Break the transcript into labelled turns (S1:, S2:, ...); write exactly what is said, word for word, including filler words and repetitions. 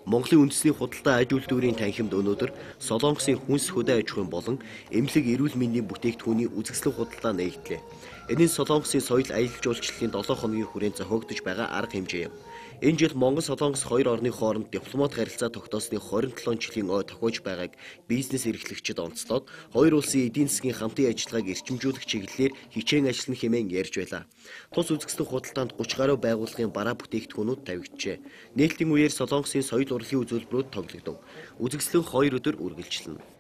S1: Монголын үндэсний худалдаа аж үйлдвэрийн танхимд өнөөдөр Солонгосын хүнс хөдөө аж ахуйн болон эмнэлэг эрүүл мэндийн бүтээгдэхүүний үзэсгэлэн худалдаа нэгдлээ. Энэ нь Солонгосын соёл аялал жуулчлалын долоо хоногийн хүрээнд зохиогдож байгаа арга хэмжээ юм. Энэ жил Монгол Солонгос хоёр орны хооронд дипломат харилцаа тогтоосны хорин долоо жилийн ой тохиож байгааг бизнес эрхлэгчид онцлоод хоёр улсын эдийн засгийн хамтын ажиллагааг эрчимжүүлэх чиглэлээр хичээн ажиллана хэмээн ярьж байлаа. Тус үзэсгэлэн худалдаанд гурван гаруй байгууллагын бараа бүтээгдэхүүнүүд тавигджээ. Нээлтийн үеэр Солонгосын соёл урлагийн үзүүлбэрүүд тоглогдов. Үзэсгэлэн хоёр өдөр үргэлжилнэ.